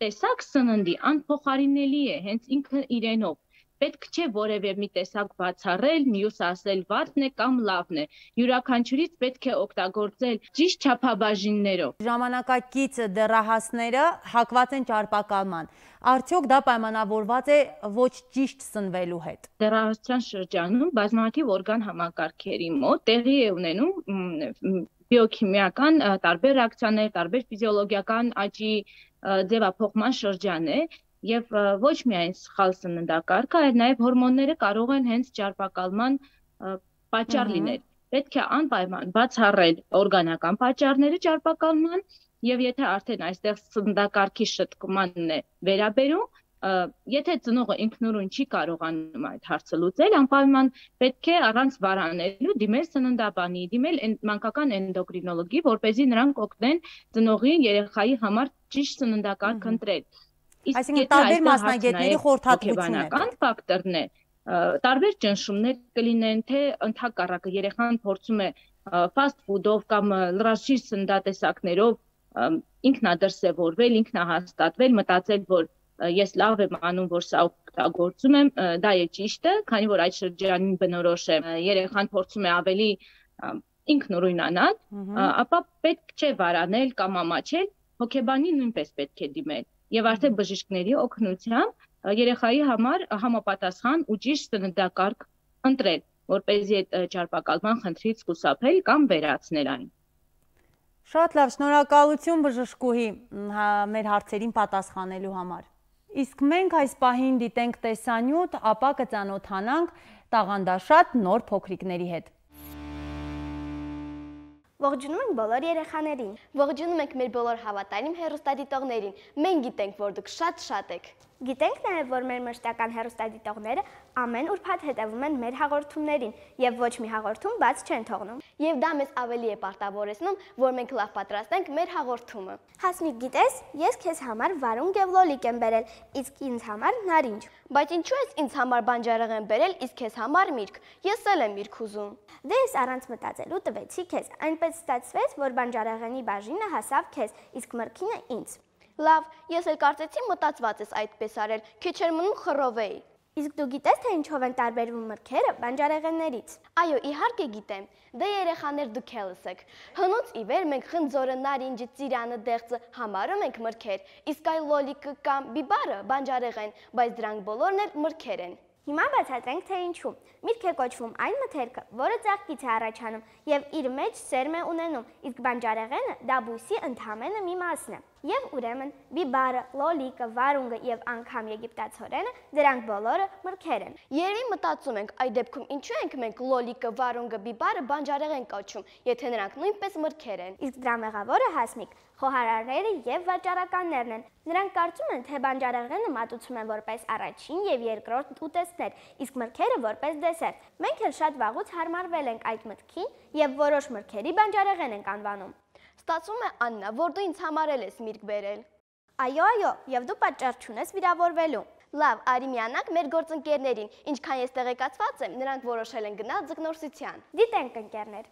տեսակ սննդի անփոխարինելի է հենց ինքը իրենով։ Պետք չէ որևէ մի տեսակ բացառել, մյուս ասել վատն է կամ լավն է։ Յուրաքանչյուրից պետք է օգտագործել ճիշտ չափաբաժիններով։ Ժամանակակից դեռահասները հակված են ճարպակալման։ Արդյոք դա պայմանավորված է ոչ ճիշտ սնվելու հետ։ Դեռահասության շրջանում բազմաթիվ օրգան համակարգերի մոտ տեղի է ունենում բիոքիմիական տարբեր ռեակցիաներ, տարբեր ֆիզիոլոգիական աճի ձևափոխման շրջան է։ Եվ ոչ միայն սխալ սննդակարգը, այլ նաև հորմոնները կարող են հենց ճարպակալման պատճառ լինել։ Պետք է անպայման բացառել օրգանական պատճառները ճարպակալման, եւ եթե արդեն այստեղ սննդակարգի շտկմանն է վերաբերում, եթե ծնողը ինքնուրույն չի կարողանում այդ հարցը լուծել, անպայման պետք է առանց վարանելու դիմել սննդաբանի, դիմել մանկական էնդոկրինոլոգի, որպեսզի նրանք օգնեն ծնողի երեխայի համար ճիշտ սննդակարգ ընտրել։ Այսինքն տարբեր մասնագետների խորհրդատվություն է։ Ֆակտորն է, տարբեր ճնշումներ կլինեն, թե ընդհակառակը երեխան փորձում է fast food-ով կամ լրացուցիչ սննդատեսակներով ինքնադրսևորվել, ինքնահաստատվել, մտածել, որ ես լավ եմ անում, որ սա օգտագործում եմ, դա է ճիշտը, քանի որ այդ շրջանին բնորոշ է, երեխան փորձում է ավելի ինքնուրույնանալ, ապա պետք չէ վարանել կամ ամաչել, հոգեբանի նույնպես պետք է դիմել։ Եվ արդեն բժիշկների օգնությամբ երեխայի համար համապատասխան ու ճիշտ սննդակարգ ընտրել, որպեսզի այդ ճարպակալման խնդրից խուսափել կամ վերացնել այն։ Շատ լավ, շնորհակալություն բժշկուհի մեր հարցերին պատասխանելու համար։ Իսկ մենք այս պահին դիտենք տեսանյութ, ապա կծանոթանանք տաղանդաշատ նոր փոքրիկների հետ։ Ողջունում ենք բոլոր երեխաներին։ Ողջունում ենք մեր բոլոր հավատարիմ հեռուստադիտողներին։ Մենք գիտենք, որ դուք շատ եք։ Գիտենք նաև, որ մեր մշտական հեռուստադիտողները ամեն ուրբաթ հետևում են մեր հաղորդումներին եւ ոչ մի հաղորդում բաց չեն թողնում։ Եվ դա մեզ ավելի է պարտավորեցնում, որ մենք լավ պատրաստենք մեր հաղորդումը։ Հասմիկ, գիտես, ես քեզ համար վարուն եւ լոլիկ եմ բերել, իսկ ինձ համար նարինջ։ Բայց ինչու ես ինձ համար բանջարեղեն բերել, իսկ քեզ համար միրգ։ Ես էլ եմ միրգ ուզում։ Դե ես առանց մտածելու տվեցի քեզ։ Այնպես ստացվեց, որ բանջարեղենի բաժինը հասավ քեզ, իսկ մրգինը ինձ։ Լավ, ես էլ կարծեցի մտածված ես այդպես արել, քիչ էր մնում խռովեի։ Իսկ դու գիտես, թե ինչով են տարբերվում մրգերը բանջարեղեններից։ Այո, իհարկե գիտեմ։ Դե երեխաներ դուք ելս եք։ Հնուց ի վեր մենք խնձորը, նարինջը, ծիրանը, դեղձը համարում ենք մրգեր, իսկ այ լոլիկը կամ բիբարը բանջարեղեն, բայց դրանք բոլորն էլ մրգեր են։ Հիմա բացատրենք, թե ինչու։ Միրգ է կոչվում այն մթերքը, որը ծաղկից է առաջանում եւ իր մեջ սերմ է ունենում, իսկ բանջարեղենը դա բույսի ընդհանրապես մի մասն է։ Եվ ուրեմն բիբարը, լոլիկը, վարունգը եւ անգամ եգիպտացորենը դրանք բոլորը մրգեր են։ Երևի մտածում ենք, այդ դեպքում ինչու ենք մենք լոլիկը, վարունգը, բիբարը բանջարեղեն կոչում, եթե նրանք նույնպես մրգեր են։ Իսկ դրա մեղավորը Հասմիկ, խոհարարները եւ վաճառականներն են։ Նրանք կարծում են, թե բանջարեղենը մատուցում են որպես առաջին եւ երկրորդ ուտեստներ, իսկ մրգերը որպես դեսերտ։ Մենք էլ շատ վաղուց հարմարվել ենք այդ մտքին եւ որոշ մրգերի բանջարեղեն ենք անվանում։ Ստացվում է, Աննա, որ դու ինձ համարել ես միրգ բերել։ Այո, եւ դու պատճառ չունես վիրավորվելու։ Լավ, արի միանանք մեր գործընկերներին, ինչքան ես տեղեկացված եմ, նրանք որոշել են գնալ ձկնորսության։ Դիտենք, ընկերներ։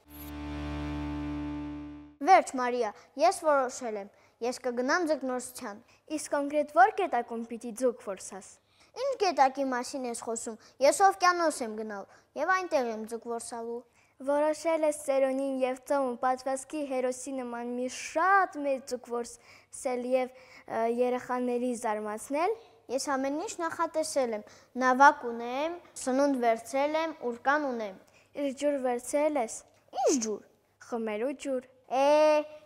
Վերջ, Մարիա, ես որոշել եմ, ես կգնամ ձկնորսության։ Իսկ կոնկրետ որ կետակում պիտի ձուկ որսաս։ Ինչ կետակի մասին ես խոսում, ես օվկիանոս եմ գնալ եւ այնտեղ եմ ձուկ որսալու։ Որոշել ես Սերոնին եւ Ծոմը պատվասկի հերոսի նման մի շատ մեծ ձուկ որսել եւ երեխաների զարմացնել։ Ես ամեն ինչ նախատեսել եմ, նավակ ունեմ, սնունդ վերցրել եմ, ուռկան ունեմ։ Իսկ ջուր վերցրել ես։ Ինչ ջուր։ Խմելու ջուր։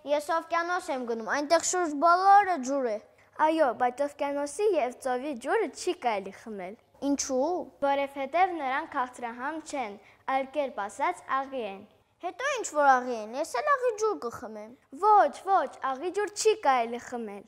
Ես օվկիանոս եմ գնում, այնտեղ շուրջ բոլորը ջուր է։ Այո, բայց օվկիանոսի եւ ծովի ջուրը չի կարելի խմել։ Ինչու՞։ Որովհետեւ նրանք քաղցրահամ չեն, այլ կերպ ասած աղի են։ Հետո ինչ որ աղի են, ես էլ աղի ջուր կխմեմ։ Ոչ, աղի ջուր չի կարելի խմել։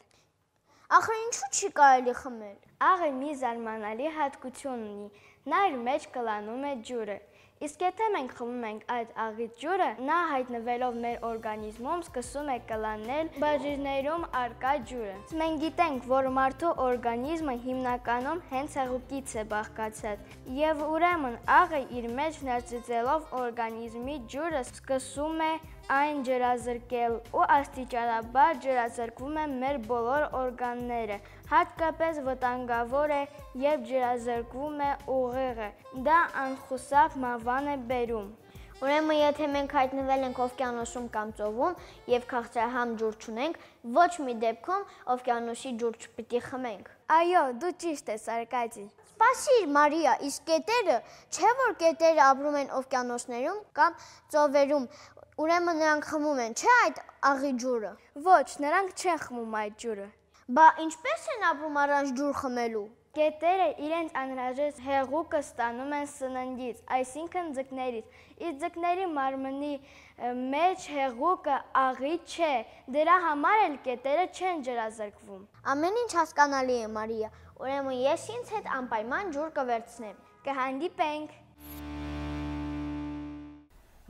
Ախր ինչու չի կարելի խմել։ Աղը մի զարմանալի հատկություն ունի, նա իր մեջ կլանում է ջուրը։ Իսկ եթե մենք խմում ենք այդ աղից ջուրը, նա հայտնվելով մեր օրգանիզմում սկսում է կլանել բաժիններում առկա ջուրը։ Մենք գիտենք, որ մարդու օրգանիզմը հիմնականում հենց հեղուկից է բաղկացած, եւ ուրեմն աղը իր մեջ ներծծելով օրգանիզմի ջուրը սկսում է այն ջրազրկել ու աստիճանաբար ջրազրկվում են մեր բոլոր օրգանները, հատկապես վտանգավոր է, երբ ջրազրկվում է ուղեղը, դա անխուսափ մահվան է բերում։ Ուրեմն եթե մենք հայտնվել ենք օվկիանոսում կամ ծովում եւ քաղցրահամ ջուր չունենք, ոչ մի դեպքում օվկիանոսի ջուր չպիտի խմենք։ Այո, դու ճիշտ ես, Արկադի։ Սպասիր, Մարիա, իսկ կետերը, չէ՞ որ կետերը ապրում են օվկիանոսներում կամ ծովերում, ուրեմն նրանք խմում են, չէ՞ այդ աղի ջուրը։ Ոչ, նրանք չեն խմում այդ ջուրը։ Բա ինչպես են ապրում առանց ջուր խմելու։ Կետերը իրենց անհրաժեշտ հեղուկը ստանում են սննդից, այսինքն ձկներից։ Իսկ ձկների մարմնի մեջ հեղուկը աղի չէ, դրա համար էլ կետերը չեն ջրազրկվում։ Ամեն ինչ հասկանալի է, Մարիա, ուրեմն ես ինձ հետ անպայման ջուր կվերցնեմ։ Կհանդիպենք։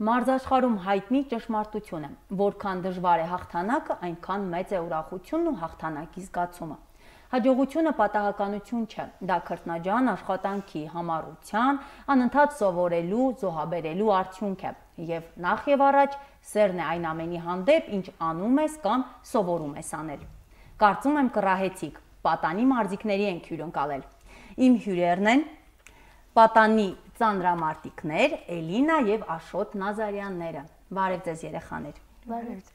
Մարզաշխարհում հայտնի ճշմարտություն է, որքան դժվար է հաղթանակը, այնքան մեծ է ուրախությունն ու հաղթանակի զգացումը։ Հաջողությունը պատահականություն չէ, դա քրտնաջան աշխատանքի, համառության, անընդհատ սովորելու, զոհաբերելու արդյունք է, եւ նախ եւ առաջ սերն է այն ամենի հանդեպ, ինչ անում ես կամ սովորում ես անել։ Կարծում եմ կռահեցիք, պատանի մարզիկների ենք հյուրընկալել։ Իմ հյուրերն են պատանի ծանրամարտիկներ Էլինա եւ Աշոտ Նազարյանները։ Բարև ձեզ երեխաներ։ Բարև։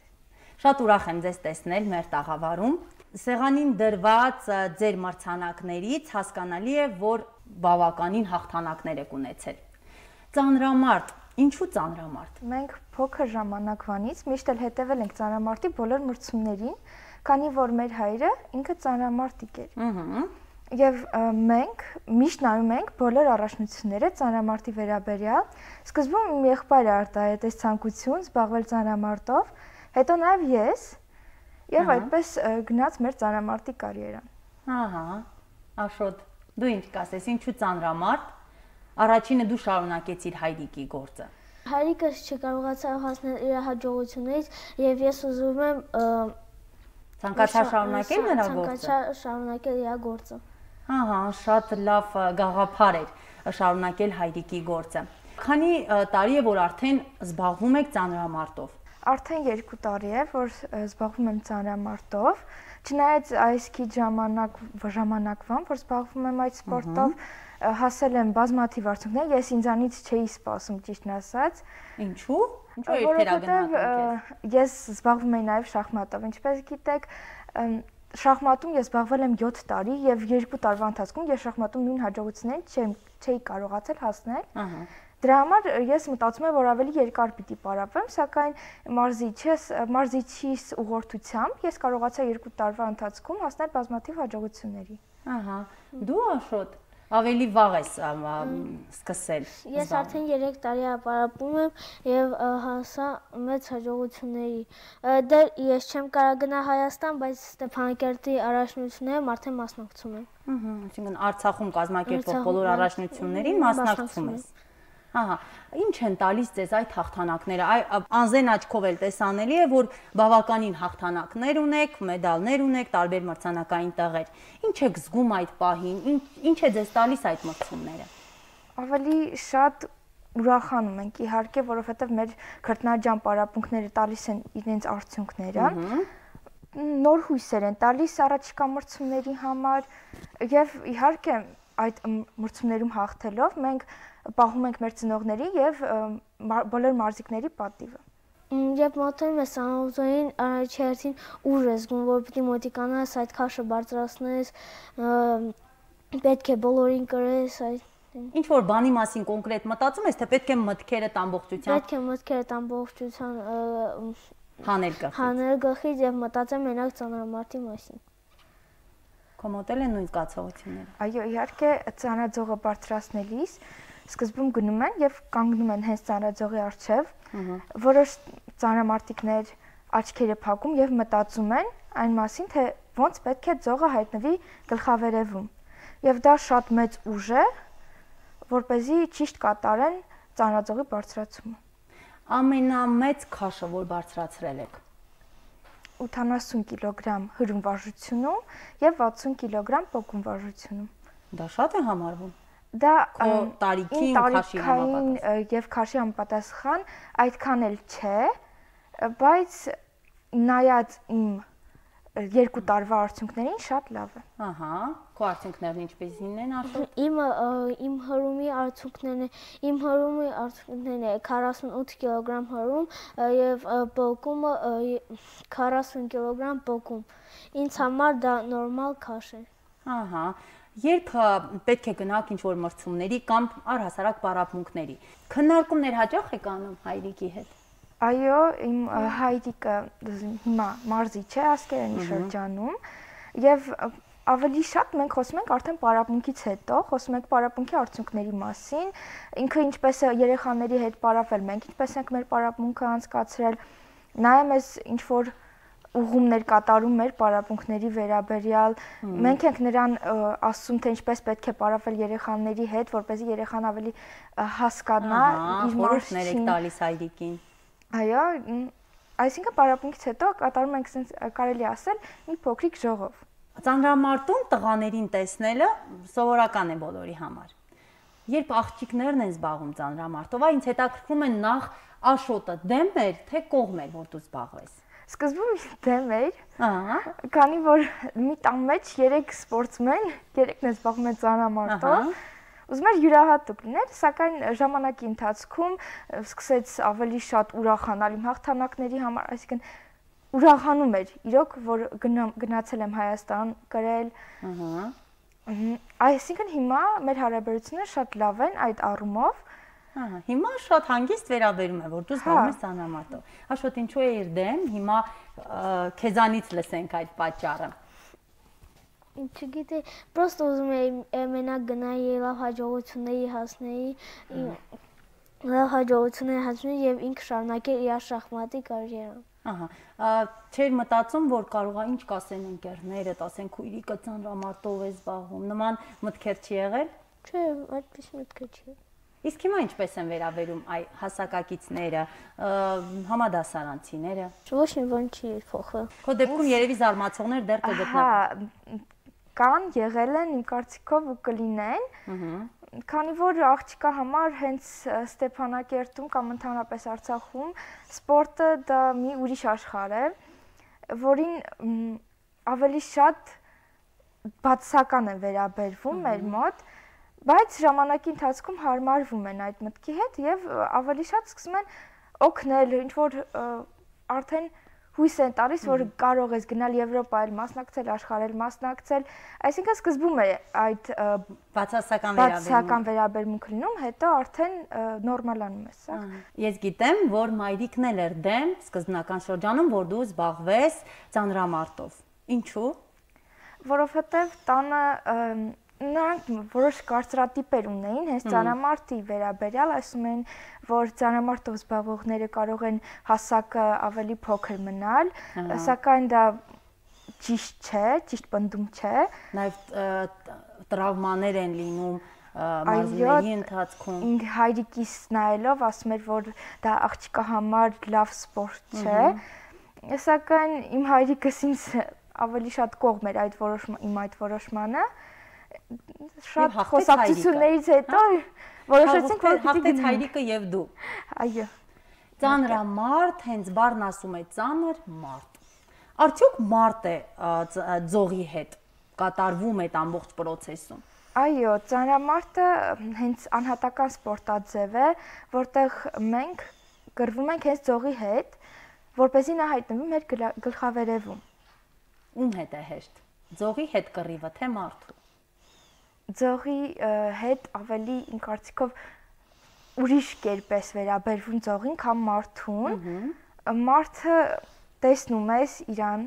Շատ ուրախ եմ ձեզ տեսնել մեր տաղավարում։ Սեղանին դրված ձեր մրցանակներից հասկանալի է, որ բավականին հաղթանակներ եք ունեցել։ Ծանրամարտ, ինչու ծանրամարտ։ Մենք փոքր ժամանակվանից միշտ էլ հետևել ենք ծանրամարտի բոլոր մրցումներին, քանի որ մեր հայրը ինքը ծանրամարտիկ էր։ Եվ մենք միշտ նայում ենք բոլոր առաջնությունները ծանրամարտի վերաբերյալ։ Սկզբում իմ եղբայրը արտահայտեց ցանկություն զբաղվել ծանրամարտով, հետո նաև ես, եւ այդպես գնաց մեր ծանրամարտի կարիերան։ Ահա, Աշոտ, դու ինչ կասես, ինչու ծանրամարտ։ Առաջինը դու շարունակեցիր հայրիկի գործը։ Հայրիկս չկարողացավ հասնել իր հաջողությունից եւ ես ուզում եմ ցանկացա շարունակել նրա գործը։ Ցանկացա շարունակել իր գործը։ Ահա, շատ լավ գաղափար էր շարունակել հայրիկի գործը։ Քանի տարի է, որ արդեն զբաղվում եք ծանրամարտով։ Արդեն 2 տարի է, որ զբաղվում եմ ծանրամարտով, չնայած այս քիչ ժամանակվան, որ զբաղվում եմ այդ սպորտով, հասել եմ բազմաթիվ արդյունքներ, ես ինձանից չէի սպասում, ճիշտն ասած։ Ինչու՞։ Ինչու եք թերագնահատում ես։ Ես զբաղվում եմ նաև շախմատով, ինչպես գիտեք, շախմատում ես զբաղվել եմ 7 տարի եւ 2 տարվա ընթացքում ես շախմատում նույն հաջողություններին չէի կարողացել հասնել։ Դրա համար ես մտածում եմ, որ ավելի երկար պիտի պարապեմ, սակայն մարզիչիս ուղղորդությամբ ես կարողացա 2 տարվա ընթացքում հասնել բազմաթիվ հաջողությունների։ Ահա, դու Աշոտ ավելի վաղ ես սկսել։ Ես արդեն 3 տարի պարապում եմ եւ հասա մեծ հաջողությունների։ Դե ես չեմ կարող գնալ Հայաստան, բայց Ստեփանակերտի առաջնություններում արդեն մասնակցում եմ։ Այսինքն Արցախում կազմակերպվող բոլոր առաջնություններին մասնակցում ես։ Ահա, ինչ են տալիս ձեզ այդ հաղթանակները։ Անզեն աչքով էլ տեսանելի է, որ բավականին հաղթանակներ ունեք, մեդալներ ունեք, տարբեր մրցանակային տեղեր։ Ինչ եք զգում այդ պահին, ինչ է ձեզ տալիս այդ մրցումները։ Ավելի շատ ուրախանում ենք, իհարկե, որովհետև մեր քրտնաջան պարապմունքները տալիս են իրենց արդյունքները։ Նոր հույսեր են տալիս առաջիկա մրցումների համար եւ իհարկե այդ մրցումներում հաղթելով մենք պահում ենք մեր ծնողների եւ բոլոր մարզիկների պատիվը։ Երբ մոտենում ես անոթային առաջի հերթին ուժ ես զգում, որ պիտի մոտիկանաս այդ քաշը բարձրացնես, պետք է բոլորին կրես այդ Ինչ որ բանի մասին կոնկրետ մտածում ես, թե պետք է մտքերդ ամբողջությամբ Պետք է մտքերդ ամբողջությամբ հանել գլխից եւ մտածեմ մենակ ծանրամարտի մասին։ Քո մոտ են նույն զգացողությունները։ Այո, իհարկե, ծանրաձողը բարձրացնելիս սկզբում գնում են եւ կանգնում են հենց ծանրաձողի առջեւ, որոշ ծանրամարտիկներ աչքերը փակում եւ մտածում են այն մասին, թե ոնց պետք է ձողը հայտնվի գլխավերևում։ Եվ դա շատ մեծ ուժ է, որպեսզի ճիշտ կատարեն ծանրաձողի բարձրացումը։ Ամենամեծ քաշը, որ բարձրացրել եք։ 80 կիլոգրամ հրում վարժությունում եւ 60 կիլոգրամ պոկում վարժությունում։ Դա շատ է համարվում։ Դա տարիքին քաշի համապատասխան եւ քաշի համապատասխան այդքան էլ չէ, բայց նայած իմ 2 տարվա արդյունքներին շատ լավ է։ Ահա, քո արդյունքներն ինչպեսին են Աշոտ։ Իմ հրումի արդյունքներն է 48 կիլոգրամ հրում եւ պոկումը 40 կիլոգրամ պոկում։ Ինձ համար դա նորմալ քաշ է։ Ահա, երբ պետք է գնաք ինչ-որ մրցումների կամ առհասարակ պարապմունքների, քննարկումներ հաճախ եք անում հայրիկի հետ։ Այո, իմ հայրիկը հիմա մարզիչ է Ասկերանի շրջանում եւ ավելի շատ մենք խոսում ենք արդեն պարապմունքից հետո, խոսում ենք պարապմունքի արդյունքների մասին, ինքը ինչպես է երեխաների հետ պարապվել, մենք ինչպես ենք մեր պարապմունքը անցկացրել, նայեմ ես ինչ որ ուղումներ կատարում մեր պարապմունքների վերաբերյալ, մենք ենք նրան ասում, թե ինչպես պետք է պարապվել երեխաների հետ, որպեսզի երեխան ավելի հասկանա իր մարզիչին տալիս հայրիկին։ Այո, այսինքն պարապմունքից հետո կատարում ենք sense կարելի ասել մի փոքրիկ ժողով։ Ծանրամարտում տղաներին տեսնելը սովորական է բոլորի համար։ Երբ աղջիկներն են զբաղվում ծանրամարտով, ինձ հետաքրքրում է նախ Աշոտը դեմ էր, թե կողմ էր, որ դու զբաղվես։ Սկզբում դեմ էր, քանի որ մի տան մեջ 3 սպորտսմեն, 3-ն զբաղվում են ծանրամարտով, ուզում էր յուրահատուկ լինել, սակայն ժամանակի ընթացքում սկսեց ավելի շատ ուրախանալ իմ հաղթանակների համար, այսինքն ուրախանում էր իրոք, որ գնացել եմ Հայաստան կրել։ Այսինքն հիմա մեր հարաբերությունները շատ լավ են այդ առումով։ Հիմա շատ հանգիստ վերաբերում է, որ դու զբաղվում ես ծանրամարտով։ Աշոտ, ինչու է իր դեմ, հիմա քեզանից լսենք այդ պատճառը։ Չգիտեմ, պրոստը ուզում էի մենակ գնայի լավ հաջողությունների հասնեի եւ ինքը շարունակել իր շախմատի կարիերան։ Ահա, չէր մտածում, որ կարող է ինչ կասեն ընկերներդ, ասեն քույրիկը ծանրամարտով է զբաղվում, նման մտքեր չի եղել։ Չէ, այդպես մտքեր չի։ Իսկ հիմա ինչպես են վերաբերում այ հասակակիցները, համադասարանցիները։ Ոչ մի բան չի փոխվել։ Քո դեպքում երևի զարմացողներ դեռ կգտնվեն։ Կան, եղել են իմ կարծիքով ու կլինեն, քանի որ աղջկա համար հենց Ստեփանակերտում կամ ընդհանրապես Արցախում սպորտը դա մի ուրիշ աշխարհ է, որին ավելի շատ բացասական են վերաբերվում մեր մոտ, բայց ժամանակի ընթացքում հարմարվում են այդ մտքի հետ եւ ավելի շատ սկսում են օգնել, ինչ որ արդեն հույս են տալիս, որ կարող ես գնալ Եվրոպայել մասնակցել, աշխարհել մասնակցել, այսինքն սկզբում է այդ բացասական վերաբերմունքը լինում, հետո արդեն նորմալանում է սա։ Ես գիտեմ, որ մայրիկն էլ էր դեմ սկզբնական շրջանում, որ դու զբաղվես ծանրամարտով։ Ինչու՞։ Որովհետև տանը նրանք որոշ կարծրատիպեր ունեին հենց ծանրամարտի վերաբերյալ, ասում էին, որ ծանրամարտով զբաղվողները կարող են հասակը ավելի փոքր մնալ, սակայն դա ճիշտ չէ, ճիշտ պնդում չէ։ Նաև տրավմաներ են լինում մարզումների ընթացքում։ Ինձ հայրիկիս նայելով ասում էր, որ դա աղջկա համար լավ սպորտ չէ, սակայն իմ հայրիկս ինձ ավելի շատ կողմ էր այդ որոշմանը։ Շատ խոսակցություններից հետո որոշեցինք, որ հաղթեց հայրիկը եւ դու։ Այո։ Ծանրամարտ, հենց բառն ասում է ծանր մարդ։ Արդյոք մարդ է ձողի հետ կատարվում այդ ամբողջ process-ում։ Այո, ծանրամարտը հենց անհատական սպորտաձև է, որտեղ մենք գրվում ենք հենց ձողի հետ, որպեսզի նա հայտնվի մեր գլխավերևում։ Ում հետ է հեշտ։ Ձողի հետ կռիվը թե մարդու։ Ձողի հետ ավելի իմ կարծիքով ուրիշ կերպ է վերաբերվում ձողին, քան մարդուն։ Մարդը տեսնում ես իրան,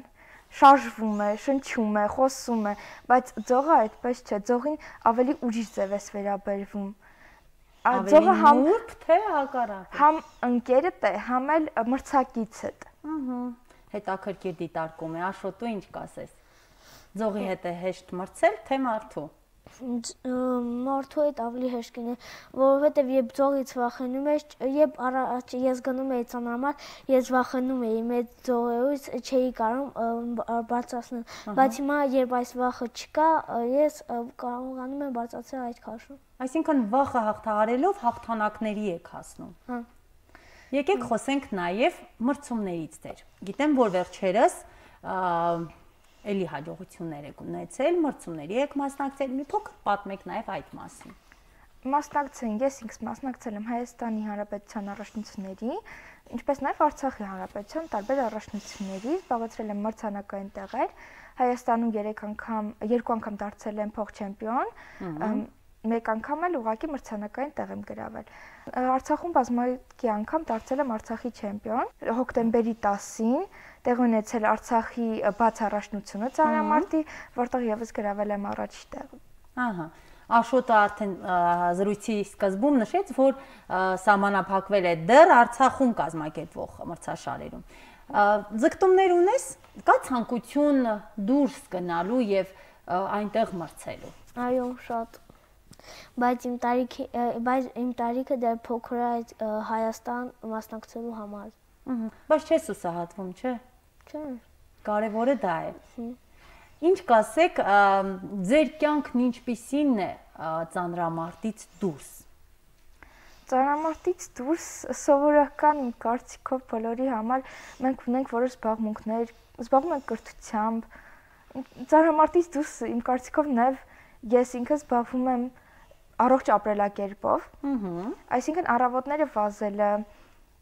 շարժվում է, շնչում է, խոսում է, բայց ձողը այդպես չէ, ձողին ավելի ուրիշ ձև է վերաբերվում։ Ավելի նուրբ թե հակառակը։ Համ ընկերդ է, համ էլ մրցակիցդ։ Հետաքրքիր դիտարկում է, Աշոտ, դու ինչ կասես։ Ձողի հետ է հեշտ մրցել, թե մարդու։ Մարդու հետ ավելի հեշտ կինի, որովհետև երբ ձողից վախենում ես, երբ առաջ ես գնում էի ծանրամարտ, ես վախենում էի մեծ ձողերից, չէի կարող բարձրացնել, բայց հիմա երբ այս վախը չկա, ես կարողանում եմ բարձրացնել այդ քաշը։ Այսինքն վախը հաղթահարելով հաղթանակների եք հասնում։ Եկեք խոսենք նաև մրցումներից դեր։ Գիտեմ, որ վերջերս էլի հաջողություններ եք ունեցել, մրցումների եք մասնակցել, մի փոքր պատմեք նաև այդ մասին։ Մասնակցել, ես ինքս մասնակցել եմ Հայաստանի Հանրապետության առաջնությունների, ինչպես նաև Արցախի Հանրապետության տարբեր առաջնությունների, զբաղեցրել եմ մրցանակային տեղեր, Հայաստանում 2 անգամ դարձել եմ փոխ-չեմպիոն, մեկ անգամ էլ ուղղակի մրցանակային տեղ եմ գրավել։ Արցախում բազմակի անգամ դարձել եմ Արցախի չեմպիոն, հոկտեմբերի 10-ին տեղ ունեցել Արցախի բաց առաջնությունը ծանրամարտի, որտեղ եւս գրավել եմ առաջի տեղը։ Ահա, Աշոտը արդեն զրույցի սկզբում նշեց, որ սահմանափակվել է դեռ Արցախում կազմակերպվող մրցաշարերում։ Ձգտումներ ունես, կա ցանկություն դուրս գնալու եւ այնտեղ մրցելու։ Այո, շատ։ Բայց իմ տարիքը դեռ փոքր է այդ Հայաստան մասնակցելու համար։ Բայց չես ուսահատվում, չէ՞։ Չէ։ Կարևորը դա է։ Ինչ կասեք, ձեր կյանքն ինչպիսին է ծանրամարտից դուրս։ Ծանրամարտից դուրս սովորական կարծիքով բոլորի համար մենք ունենք որոշ զբաղմունքներ, զբաղվում ենք կրթությամբ։ Ծանրամարտից դուրս իմ կարծիքով նաև ես ինքս զբաղվում եմ առողջ ապրելակերպով, այսինքն առավոտները վազելը,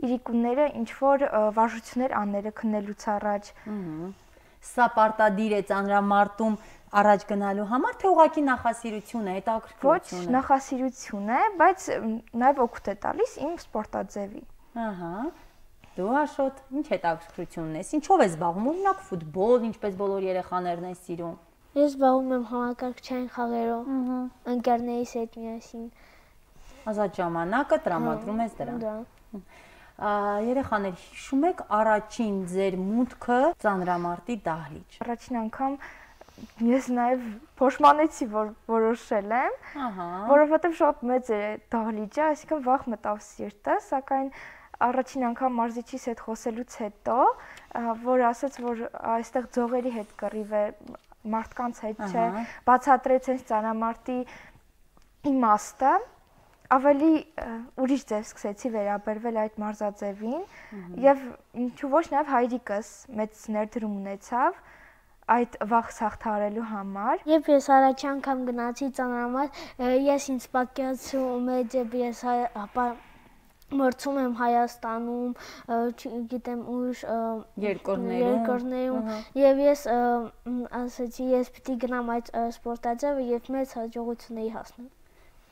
իրիկունները ինչ որ վարժություններ անելը քննելուց առաջ։ Սա պարտադիր է ծանրամարտում առաջ գնալու համար, թե ուղղակի նախասիրություն է, հետաքրքրություն է։ Ոչ, նախասիրություն է, բայց նաև օգուտ է տալիս իմ սպորտաձևի։ Ահա։ Դու Աշոտ, ինչ հետաքրքրություն ունես, ինչով ես զբաղվում, օրինակ ֆուտբոլ, ինչպես բոլոր երեխաներն են սիրում։ Ես զբաղվում եմ համակարգչային խաղերով, ընկերներիս հետ միասին։ Ազատ ժամանակը տրամադրում ես դրան։ Երեխաներ, հիշում եք առաջին ձեր մուտքը ծանրամարտի դահլիճ։ Առաջին անգամ ես նաև փոշմանեցի, որ որոշել եմ, որովհետև շատ մեծ է դահլիճը, այսինքն վախ մտավ սիրտը, սակայն առաջին անգամ մարզիչիս հետ խոսելուց հետո, որ ասաց, որ այստեղ ձողերի հետ կռիվ է, մարդկանց հետ չէ, բացատրեց հենց ծանրամարտի իմաստը, ավելի ուրիշ ձև սկսեցի վերաբերվել այդ մարզաձևին եւ ինչու ոչ նաեւ հայրիկս մեծ ներդրում ունեցավ այդ վախս հաղթահարելու համար։ Երբ ես առաջ անգամ գնացի ծանրամարտ, ես ինձ պատկերացրում եմ, ես մրցում եմ Հայաստանում, չգիտեմ ուր երկրներում եւ ես ասացի ես պիտի գնամ այդ սպորտաձևը եւ մեծ հաջողությունների հասնեմ։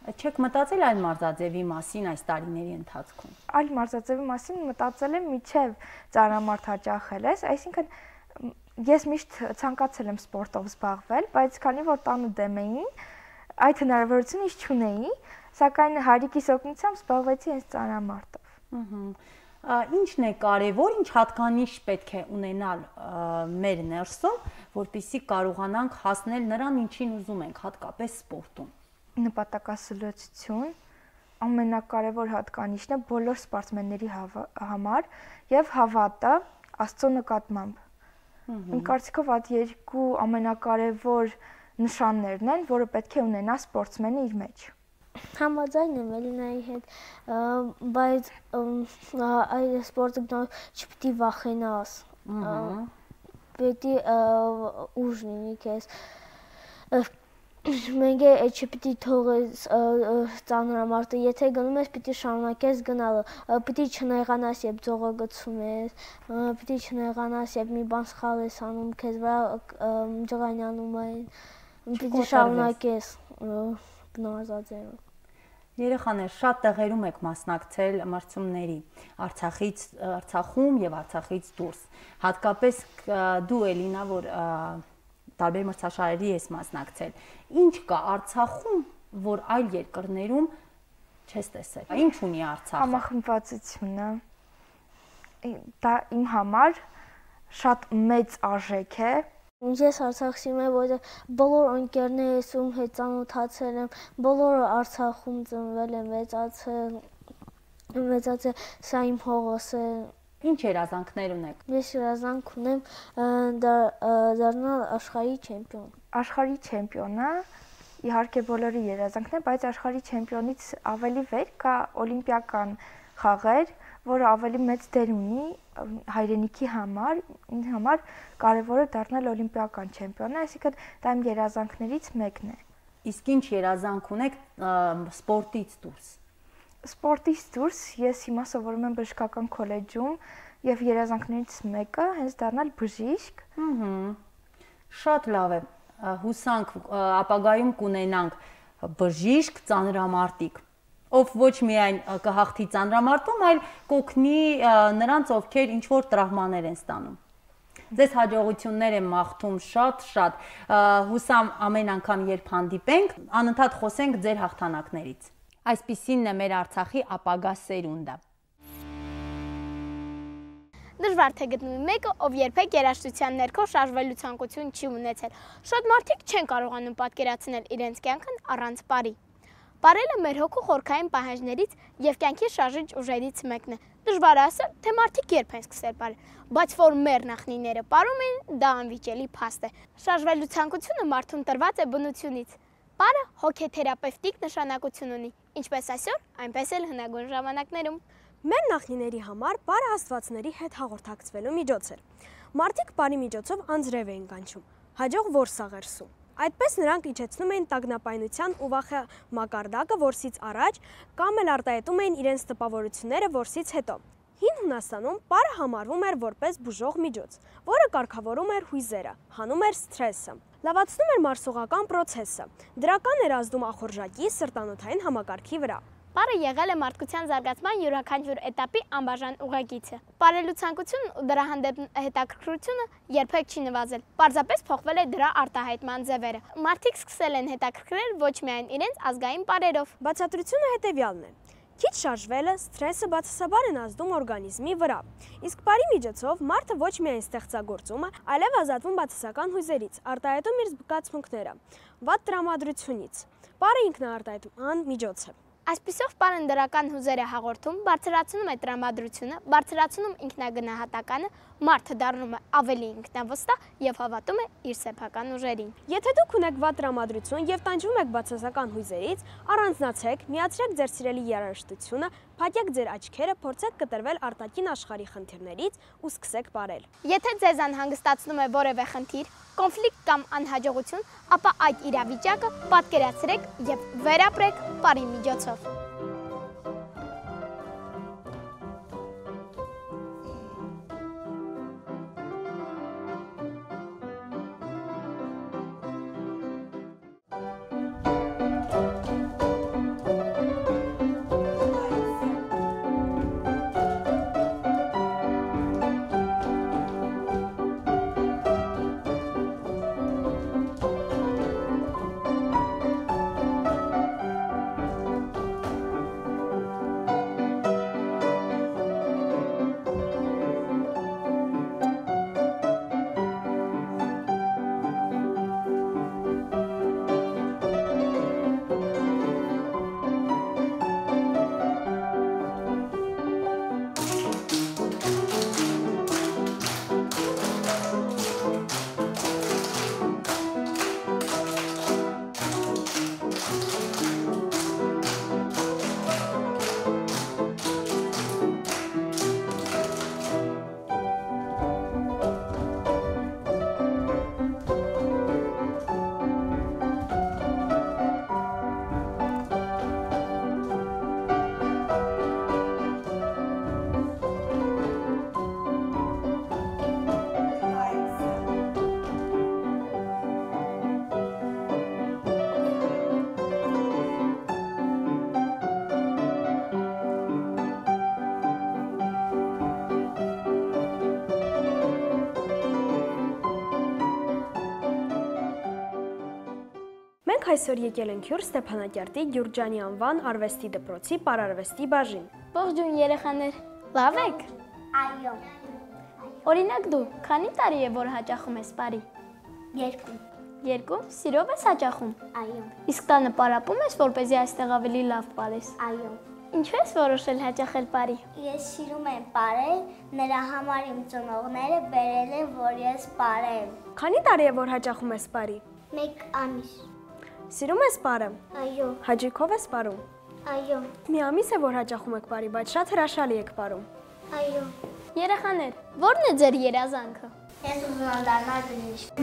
Չեք մտածել այլ մարզաձևի մասին այս տարիների ընթացքում։ Այլ մարզաձևի մասին մտածել եմ միջև ծանրամարտ հաճախել ես, այսինքն ես միշտ ցանկացել եմ սպորտով զբաղվել, բայց քանի որ տանը դեմ էին, այդ հնարավորությունը ես չունեի, սակայն հարիկիս օգնությամբ զբաղվեցի այս ծանրամարտով։ Ինչն է կարևոր, ինչ հատկանիշ պետք է ունենալ մեր ներսում, որպեսզի կարողանանք հասնել նրան, ինչին ուզում ենք, հատկապես սպորտում։ Նպատակասլացություն ամենակարևոր հատկանիշն է բոլոր սպորտսմենների համար եւ հավատը Աստծո նկատմամբ։ Իմ կարծիքով այդ երկու ամենակարևոր նշաններն են, որը պետք է ունենա սպորտսմենը իր մեջ։ Համաձայն եմ Էլինայի հետ, բայց այդ սպորտը չպիտի վախենաս։ Պետք է ուժ լինի քեզ։ Մենք չպիտի թողես ծանրամարտը, եթե գնում ես, պիտի շարունակես գնալը, պիտի չնեղանաս, երբ ձողը գցում ես, պիտի չնեղանաս, երբ մի բան սխալ ես անում, քեզ վրա ջղայնանում են, պիտի շարունակես գնահատաձևը։ Երեխաներ, շատ տեղերում եք մասնակցել մրցումների, Արցախում եւ Արցախից դուրս։ Հատկապես դու Էլինա, որ տարբեր մրցաշարերի ես մասնակցել։ Ինչ կա Արցախում, որ այլ երկրներում չես տեսել։ Ինչ ունի Արցախը։ Համախմբվածությունը։ Դա իմ համար շատ մեծ արժեք է։ Ես Արցախցի եմ, որտեղ բոլոր ընկերներս ում հետ ծանոթացել եմ, բոլորը Արցախում ծնվել են, մեծացել, սա իմ հողս է։ Ինչ երազանքներ ունեք։ Ես երազանք ունեմ դառնալ աշխարհի չեմպիոն։ Աշխարհի չեմպիոնը իհարկե բոլորի երազանքն է, բայց աշխարհի չեմպիոնից ավելի վեր կա օլիմպիական խաղեր, որը ավելի մեծ դեր ունի հայրենիքի համար, ինձ համար կարևորը դառնալ օլիմպիական չեմպիոնը, այսինքն դա իմ երազանքներից մեկն է։ Իսկ ինչ երազանք ունեք սպորտից դուրս։ Սպորտից դուրս ես հիմա սովորում եմ բժշկական քոլեջում եւ երազանքներից մեկը հենց դառնալ բժիշկ։ Շատ լավ է։ Հուսանք ապագայում կունենանք բժիշկ ծանրամարտիկ, ով ոչ միայն կհաղթի ծանրամարտում, այլ կօգնի նրանց, ովքեր ինչ որ տրավմաներ են ստանում։ Ձեզ հաջողություններ եմ մաղթում շատ, հուսամ ամեն անգամ երբ հանդիպենք, անընդհատ խոսենք ձեր հաղթանակներից։ Այսպիսինն է մեր Արցախի ապագա սերունդը։ Դժվար թե գտնվի մեկը, ով երբեք երաժշտության ներքո շարժվելու ցանկություն չի ունեցել։ Շատ մարդիկ չեն կարողանում պատկերացնել իրենց կյանքն առանց բարի։ Բարելը մեր հոգու խորքային պահանջներից եւ կյանքի շարժիչ ուժերից մեկն է։ Դժվար է ասել, թե մարդիկ երբ են սկսել բարել, բայց որ մեր նախնիները բարում են, դա անվիճելի փաստ է։ Շարժվելու ցանկությունը մարդուն տրված է բնությունից։ Բարը հոգեթերապևտիկ նշանակություն ունի, ինչպես այսօր, այնպես էլ հնագույն ժամանակներում։ Մեր նախնիների համար բարը աստվածների հետ հաղորդակցվելու միջոց էր։ Մարդիկ բարի միջոցով անձրև էին կանչում, հաջող որսաղերսում։ Այդպես նրանք իջեցնում էին տագնապայնության ու վախի մակարդակը որսից առաջ կամ էլ արտահայտում էին իրենց տպավորությունները որսից հետո։ Հին Հունաստանում բարը համարվում էր որպես բուժող միջոց, որը կարգավորում էր հույզերը, հանում էր սթրեսը, լավացնում էր մարսողական պրոցեսը, դրական էր ազդում ախորժակի սրտանոթային համակարգի վրա։ Բարը եղել է մարդկության զարգացման յուրաքանչյուր էտապի անբաժան ուղեկիցը։ Բարելու ցանկությունն ու դրա հանդեպ հետաքրքրությունը երբեք չի նվազել։ Պարզապես փոխվել է դրա արտահայտման ձևերը։ Մարդիկ սկսել են հետաքրքրել ոչ միայն իրենց ազգային բարերով։ Բացատրությունը հետևյալն է. Քիչ շարժվելը, սթրեսը բացասաբար են ազդում օրգանիզմի վրա։ Իսկ բարի միջոցով մարդը ոչ միայն ստեղծագործում է, այլև ազատվում բացասական հույզերից, արտահայտում իր զգացմունքները, վատ տրամադրությունից։ Բարը ինքնաարտահայտման միջոց է։ Այսպիսով բարն դրական հուզեր է հաղորդում, բարձրացնում է տրամադրությունը, բարձրացնում ինքնագնահատականը, մարդը դառնում է ավելի ինքնավստահ եւ հավատում է իր սեփական ուժերին։ Եթե դուք ունեք վատ տրամադրություն եւ տանջվում եք բացասական հույզերից, առանձնացեք, միացրեք ձեր սիրելի երաժշտությունը, փակեք ձեր աչքերը, փորձեք կտրվել արտաքին աշխարհի խնդիրներից ու սկսեք բարել։ Եթե ձեզ անհանգստացնում է որևէ խնդիր, կոնֆլիկտ կամ անհաջողություն, ապա այդ իրավիճակը պատկերացրեք եւ վերապրեք բարի միջոցով։ Մենք այսօր եկել ենք հյուր Ստեփանակերտի Գյուրջանի անվան արվեստի դպրոցի պարարվեստի բաժին։ Ողջույն երեխաներ, լավ եք։ Այո։ Օրինակ դու քանի տարի է որ հաճախում ես բարի։ 2։ 2, սիրով ես հաճախում։ Այո։ Իսկ տանը պարապում ես, որպեսզի այստեղ ավելի լավ պարես։ Այո։ Ինչու ես որոշել հաճախել բարի։ Ես սիրում եմ պարել, նրա համար իմ ծնողները բերել են, որ ես պարեմ։ Քանի տարի է որ հաճախում ես բարի։ 1 ամիս։ Սիրում ես պարը։ Այո։ Հաճույքով ես պարում։ Այո։ Մի ամիս է որ հաճախում եք բարի, բայց շատ հրաշալի եք պարում։ Այո։ Երեխաներ, ո՞րն է ձեր երազանքը։ Ես ուզում եմ դառնալ բժիշկ։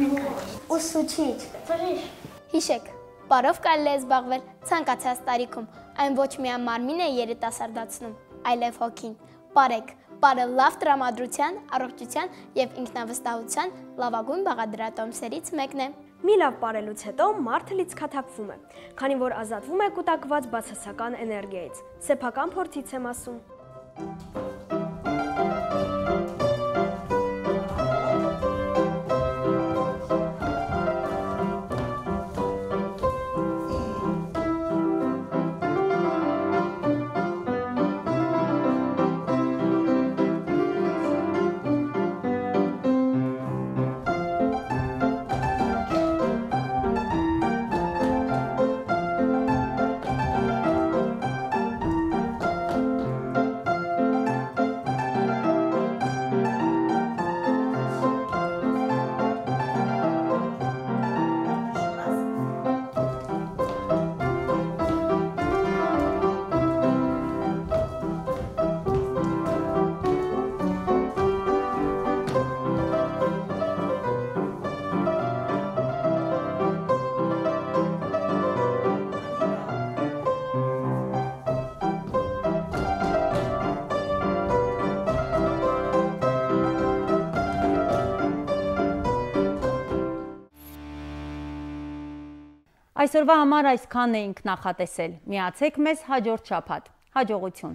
Ուսուցիչ։ Բժիշկ։ Հիշեք, պարով կարելի է զբաղվել ցանկացած տարիքում, այն ոչ միայն մարմինը է երիտասարդացնում, այլև հոգին։ Պարեք, պարը լավ տրամադրության, առողջության եւ ինքնավստահության լավագույն բաղադրատոմսերից մեկն է։ Մի լավ պարելուց հետո մարդը լիցքաթափվում է, քանի որ ազատվում է կուտակված բացասական էներգիայից։ Սեփական փորձից եմ ասում։ Այսօրվա համար այսքանն էինք նախատեսել։ Միացեք մեզ հաջորդ շաբաթ։ Հաջողություն։